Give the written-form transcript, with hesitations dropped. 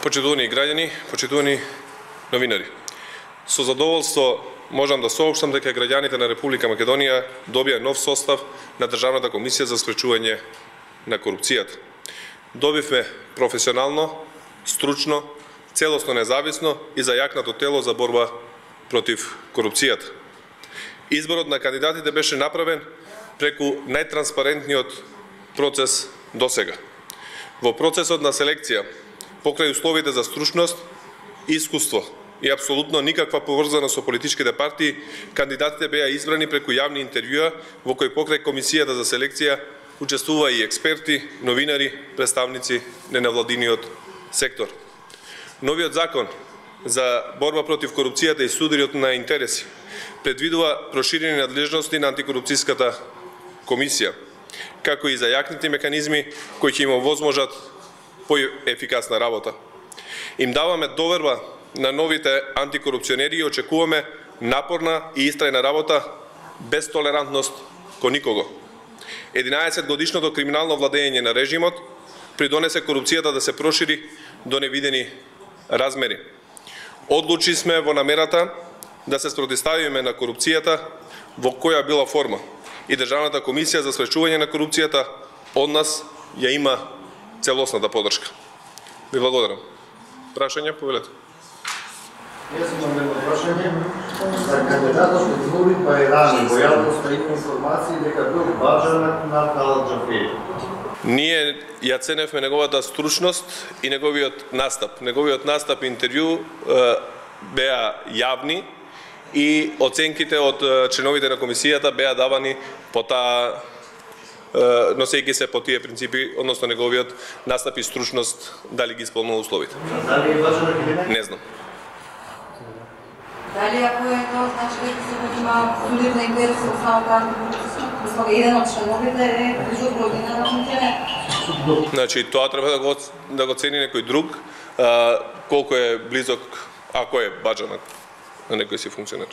Почитувани граѓани, почитувани новинари. Со задоволство можам да соопштам дека граѓаните на Република Македонија добија нов состав на Државната комисија за спречување на корупцијата. Добивме професионално, стручно, целосно независно и зајакнато тело за борба против корупцијата. Изборот на кандидатите беше направен преку најтранспарентниот процес досега. Во процесот на селекција, покрај условите за стручност и искуство и апсолутно никаква поврзаност со политичките партии, кандидатите беа избрани преку јавни интервјуа во кои покрај комисијата за селекција учествува и експерти, новинари, представници на невладиниот сектор. Новиот закон за борба против корупцијата и судирот на интереси предвидува проширени надлежности на антикорупцијската комисија, како и зајакнати механизми кои ќе им овозможат поефикасна работа. Им даваме доверба на новите антикорупционери и очекуваме напорна и истрајна работа без толерантност кон никого. 11 годишното криминално владење на режимот придонесе корупцијата да се прошири до невидени размери. Одлучи сме во намерата да се спротивставиме на корупцијата во која била форма и Државната комисија за спречување на корупцијата од нас ја има целосната поддршка. Ви благодарам. Прашања, повелете. Јас имам едно прашање. За кандидатот од избори Бајрами, во јавноста има информации дека бил баџанак на Калаџафеји. Ние ја ценевме неговата стручност и неговиот настап. Неговиот настап и интервју беа јавни и оценките од членовите на комисијата беа давани по таа носејќи се по тие принципи, односно неговиот настап и стручност дали ги исполнува условите. Дали е баџанак или не? Не знам. Дали ако е тоа значи дека се има судир на интерес од самата антикорупцијска, еден од членовите е близу од година на функционер? Значи тоа треба да го цени некој друг, колку е близок, ако е баџанак на некој си функционер.